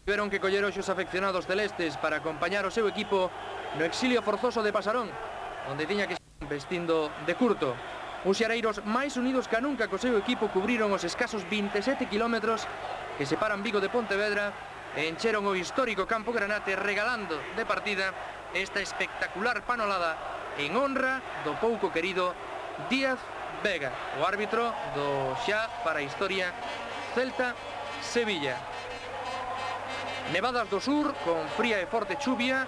Tiveron que coller hoxe os afeccionados celestes para acompañar o seu equipo no exilio forzoso de Pasarón, onde tiña que estar vestindo de curto. Uns xareiros máis unidos que nunca co seu equipo cubriron os escasos 27 kilómetros que separan Vigo de Pontevedra e encheron o histórico Campo Granate regalando de partida esta espectacular panolada en honra do pouco querido Díaz Vega, o árbitro do xa para a historia Celta-Sevilla. Nevadas do sur, con fría e forte chuvia,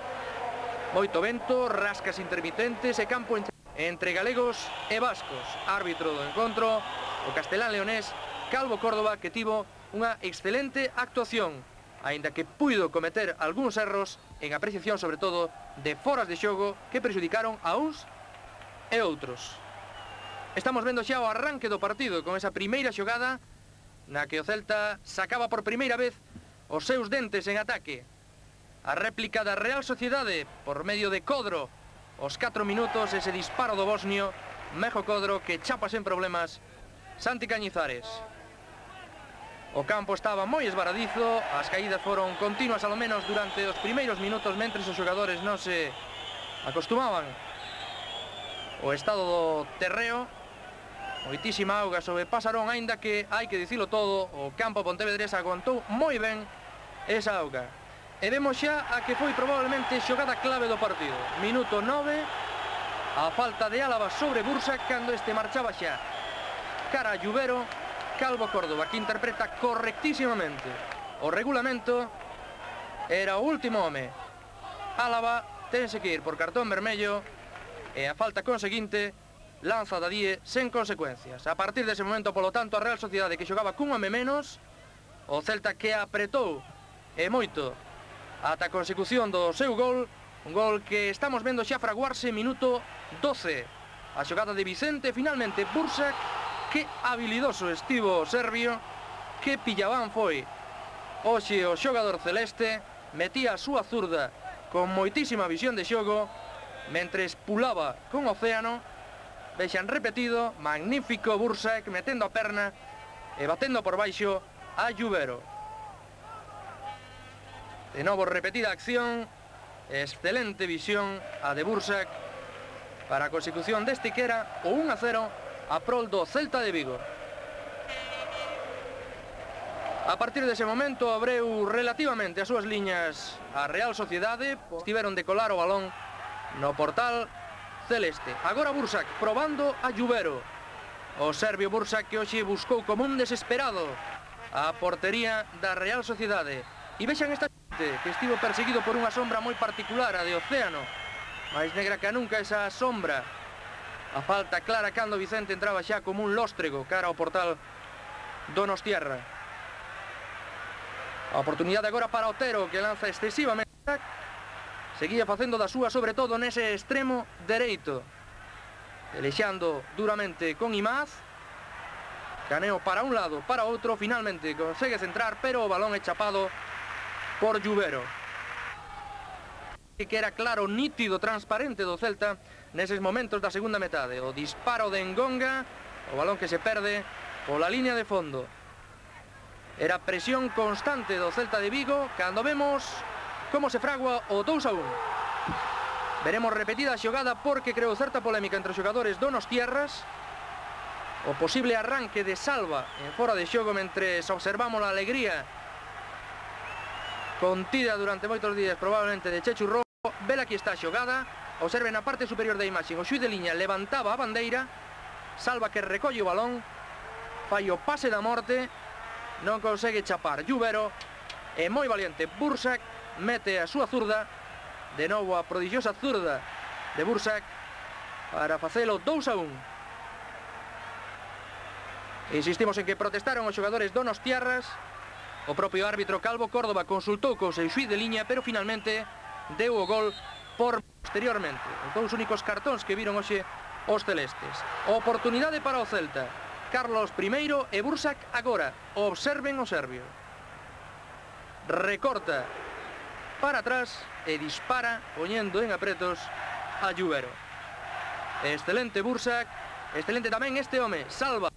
moito vento, rascas intermitentes e campo entre galegos e vascos. Árbitro do encontro, o castelán leonés Calvo Córdoba, que tivo unha excelente actuación, aínda que puido cometer algúns erros en apreciación, sobre todo, de foras de xogo que prexudicaron a uns e outros. Estamos vendo xa o arranque do partido con esa primeira xogada na que o Celta sacaba por primeira vez os seus dentes en ataque. A réplica da Real Sociedade por medio de Codro. Os 4 minutos ese disparo do bosnio Mejo Codro que chapa sen problemas Santi Cañizares. O campo estaba moi esvaradizo, as caídas foron continuas alo menos durante os primeiros minutos mentres os xogadores non se acostumaban o estado do terreo. Moitísima auga sobre Pasarón, aínda que, hai que dicilo todo, o campo pontevedrés aguantou moi ben esa auga. E vemos xa a que foi probablemente xogada clave do partido. Minuto 9, a falta de Álava sobre Bursac cando este marchaba xa cara a Lluvero. Calvo Córdoba, que interpreta correctísimamente o regulamento, era o último home. Álava tense que ir por cartón vermello e a falta conseguinte lanza da Die sen consecuencias. A partir dese momento, polo tanto, a Real Sociedade que xogaba cun home menos, o Celta que apretou e moito ata a consecución do seu gol, un gol que estamos vendo xa fraguarse minuto 12. A xogada de Vicente, finalmente Bursac, que habilidoso estivo o serbio, que pillabán foi hoxe o xogador celeste, metía a súa zurda con moitísima visión de xogo, mentres pulaba con Océano. Vexan repetido, magnífico Bursac metendo a perna e batendo por baixo a Lluvero. De novo repetida acción, excelente visión a de Bursac para a consecución deste que era o 1-0 a prol do Celta de Vigo. A partir dese momento abreu relativamente as súas liñas a Real Sociedade, estiveron de colar o balón no portal celeste. Agora Bursac probando a Lluvero. O serbio Bursac que hoxe buscou como un desesperado a portería da Real Sociedade. E vexan esta xente que estivo perseguido por unha sombra moi particular, a de Océano. máis negra que nunca esa sombra. A falta clara cando Vicente entraba xa como un lóstrego cara ao portal donostiarra. A oportunidade agora para Otero, que lanza excesivamente. Seguía facendo da súa, sobre todo nese extremo dereito, pelexando duramente con Imaz. Caneo para un lado, para outro, finalmente consegue centrar, pero o balón é chapado por Lluvero, que era claro, nítido, transparente do Celta neses momentos da segunda metade. O disparo de Engonga, o balón que se perde pola línea de fondo. Era presión constante do Celta de Vigo cando vemos como se fragua o 2-1. Veremos repetida a xogada porque creou certa polémica entre os xogadores donostiarras. O posible arranque de Salva en fora de xogo mentres observamos a alegría contida durante moitos días probablemente de Chechu Rojo. Vela aquí está a xogada. Observen a parte superior da imaxe. O xuiz de liña levantaba a bandeira. Salva que recolle o balón, fai o pase da morte, non consegue chapar Lluvero. E moi valiente Bursac, mete a súa zurda. De novo a prodigiosa zurda de Bursac para facelo 2-1. Insistimos en que protestaron os xogadores donostiarras. O propio árbitro Calvo Córdoba consultou co seu xuiz de liña, pero finalmente deu o gol por posteriormente. Os dous únicos cartóns que viron hoxe os celestes. Oportunidade para o Celta. Carlos primeiro e Bursac agora. Observen o serbio. Recorta para atrás e dispara poñendo en apretos a Lluvero. Excelente Bursac, excelente tamén este home, Salva.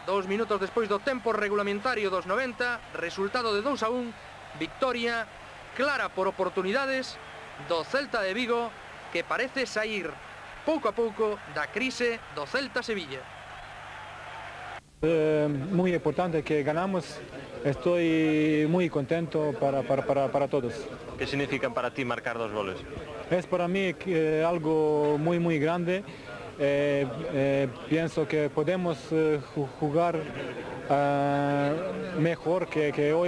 2 minutos despois do tempo regulamentario dos 90, resultado de 2-1 victoria clara por oportunidades do Celta de Vigo, que parece sair pouco a pouco da crise do Celta-Sevilla. Muy importante que ganamos, estoy muy contento para todos. ¿Qué significan para ti marcar 2 goles? Es para mí algo muy grande. Pienso que podemos jugar mejor que hoy.